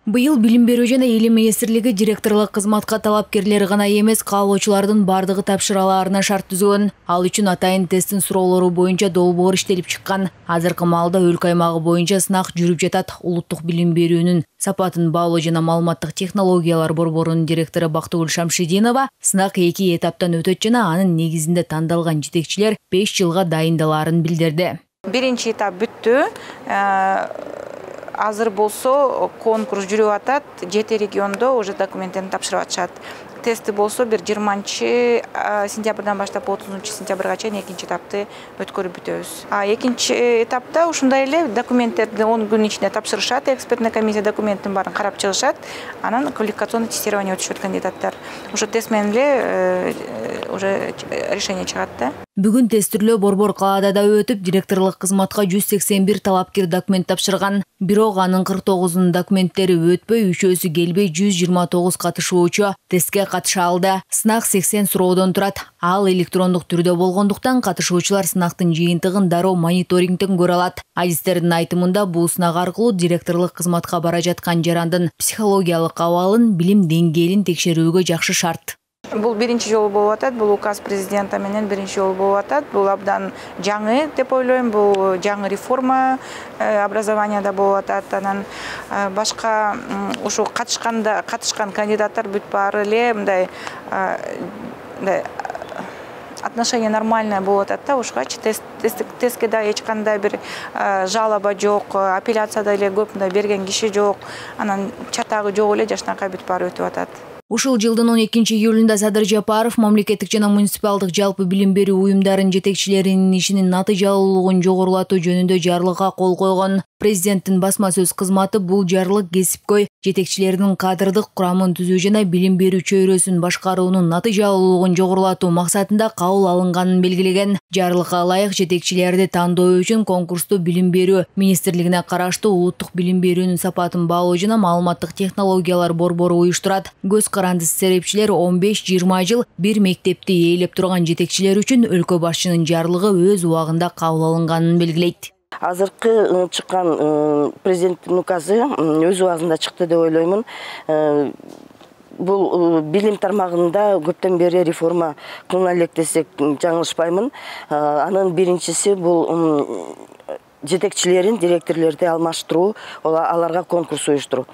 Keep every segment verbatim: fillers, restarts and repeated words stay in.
Быйыл билим берүү жана элим министрлиги директорлук кызматка талапкерлер гана эмес, каалоочулардын бардыгы тапшыраларына шарт түзгөн. Ал үчүн атайын тесттин суроолору боюнча долбоор иштелип чыккан. Азыркы маалда өлкө аймагы боюнча сынак жүрүп жатат. Улуттук билим берүүнүн сапатын баалоо жана маалыматтык технологиялар борборунун директору Бактыгүл Шамшидинова сынак эки этаптан өтөт жана анын негизинде тандалган жетекчилер беш жылга дайындалаарын билдирди. Биринчи этап бүттү. Азыр болсо конкурс жүрүп атат. Жети региондо уже документтерин тапшырып атышат. Тести болсо бир жыйырманчы сентябрдан баштап отузунчу сентябрга чейин экинчи этапты өткөрүп бүтөбүз. А экинчи этапта ушундай эле документтерди он күн ичинде тапшырышат. Экспертный комиссия документтин баарын карап чыгышат. Анан квалификационный тестирование өтүшөт кандидаттар. Ошо тест менен эле уже решение чыгат да. Бүгүн тестирлөө борбор калаада да өтүп, директорлук кызматка жүз сексен бир талапкер документ тапшырган. Бирок анын кырк тогузунун документтери өтпөй, үчөөсү келбей жүз жыйырма тогуз катышуучу тестке катыша алды. Сынак сексен суроодон турат. Ал электрондук түрдө болгондуктан катышуучулар сынактын жыйынтыгын дароо мониторингден көрө алат. Адистердин айтымында бул сынак аркылуу директорлук кызматка бара жаткан жарандын психологиялык абалын, билим деңгээлин текшерүүгө жакшы шарт. Бул биринчи жолу болуп атат. Бул указ президента менен биринчи жолу болуп атат. Бул абдан жаңы деп ойлойм. Бул жаңы реформа образованияда болуп атат. Анан башка ушу катышканда катышкан кандидаттар бүт баары эле мындай мындай отношение нормальное болуп атат да. Ушугачы тест тестке да эч кандай бир жалоба жок, апелляцияда эле көп мындай берген киши жок. Анан чатагы жок эле жашынакай бүт баары өтүп атат. Ушул жылдын он экинчи июлунда Садыр Жапаров мамлекеттик жана муниципалдык жалпы билим берүү уюмдарынын жетекчилеринин ишинин натыйжалуулугун жогорулатуу жөнүндө жарлыкка кол койгон. Президенттин басма сөз кызматы бул жарлык кесипкөй жетекчилердин кадрдык курамын түзүү жана билим берүү чөйрөсүн башкаруунун натыйжалуулугун жогорулатуу максатында кабыл алынганын белгилеген. Жарлыкка ылайык жетекчилерди тандоо үчүн конкурсту билим берүү министрлигине караштуу улуттук билим берүүнүн сапатын баалоо жана маалыматтык технологиялар борбору уюштурат. Көз каранды серепчилер он беш жыйырма жыл бир мектепти ээлеп турган жетекчилер үчүн өлкө башчынын жарлыгы өз убагында кабыл алынганын белгилейт. Азыркы чыккан президенттин указы өз убагында чыкты деп ойлоймун. Бул билим тармагында көптөн бери реформа кылына элек десек жаңылышпаймын. Анын биринчиси бул жетекчилерин, директорлорду алмаштыруу, аларга конкурс уюштуруу.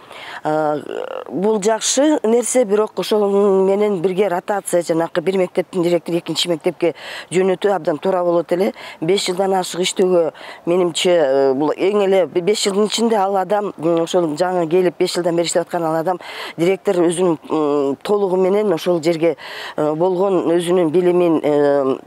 Бул жакшы нерсе, бирок ошол менен бирге ротация, жанакы бир мектептин директору экинчи мектепке жөнөтүү абдан туура болот эле. беш жылдан ашык иштөөгө менимче бул эң эле беш жылдын ичинде ал адам, ошол жаңы келип беш жылдан бери иштеп аткан ал адам директор өзүнүн толугу менен ошол жерге болгон өзүнүн билимин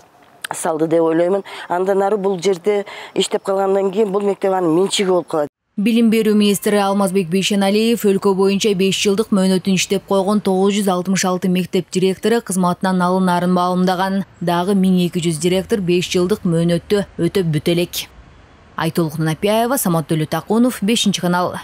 салды деп ойлоймун. Андан ары бул жерде иштеп калгандан кийин бул мектеп анын менчиги болуп калат. Билим берүү министри Алмазбек Бейшеналиев өлкө боюнча беш жылдык мөөнөтүн иштеп койгон тогуз жүз алтымыш алты мектеп директору кызматынан алынаарын маалымдаган. Дагы миң эки жүз директор беш жылдык мөөнөттү өтөп бүтө элек. Айтолук Нанапияева, Самат Төлөтакунов, бешинчи канал.